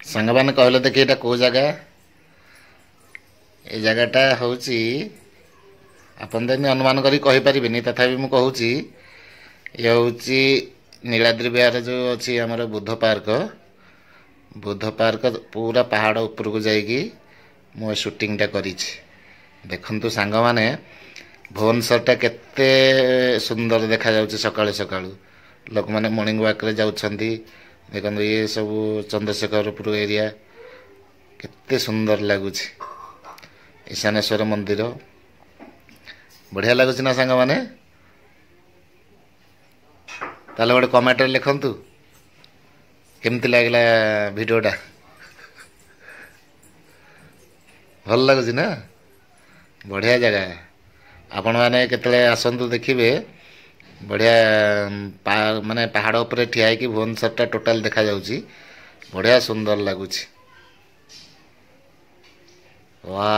ସାଙ୍ଗମାନେ କହିଲେ ଦେଖି ଏଇଟା କେଉଁ ଜାଗା? ଏ ଜାଗାଟା ହେଉଛି, ଆପଣ ତ ଏମିତି ଅନୁମାନ କରି କହିପାରିବେନି, ତଥାପି ମୁଁ କହୁଛି। ଇଏ ହେଉଛି ନୀଳାଦ୍ରି ବିହାର ଯେଉଁ ଅଛି ଆମର ବୁଦ୍ଧ ପାର୍କ। ବୁଦ୍ଧ ପାର୍କ ପୁରା ପାହାଡ଼ ଉପରକୁ ଯାଇକି ମୁଁ ଏ ସୁଟିଂଟା କରିଛି। ଦେଖନ୍ତୁ ସାଙ୍ଗମାନେ, ଭୁବନେଶ୍ୱରଟା କେତେ ସୁନ୍ଦର ଦେଖାଯାଉଛି ସକାଳୁ ସକାଳୁ। ଲୋକମାନେ ମର୍ଣ୍ଣିଂ ୱାକ୍ରେ ଯାଉଛନ୍ତି। ଦେଖନ୍ତୁ, ଇଏ ସବୁ ଚନ୍ଦ୍ରଶେଖରପୁର ଏରିଆ, କେତେ ସୁନ୍ଦର ଲାଗୁଛି। ଈଶାନେଶ୍ୱର ମନ୍ଦିର ବଢ଼ିଆ ଲାଗୁଛି ନା ସାଙ୍ଗମାନେ? ତାହେଲେ ଗୋଟେ କମେଣ୍ଟରେ ଲେଖନ୍ତୁ କେମିତି ଲାଗିଲା ଭିଡ଼ିଓଟା। ଭଲ ଲାଗୁଛି ନା? ବଢ଼ିଆ ଜାଗା। ଆପଣମାନେ କେତେବେଳେ ଆସନ୍ତୁ, ଦେଖିବେ ବଢ଼ିଆ ମାନେ ପାହାଡ଼ ଉପରେ ଠିଆ ହେଇକି ଭୁବନେଶ୍ୱରଟା ଟୋଟାଲ ଦେଖାଯାଉଛି। ବଢ଼ିଆ ସୁନ୍ଦର ଲାଗୁଛି। ୱା।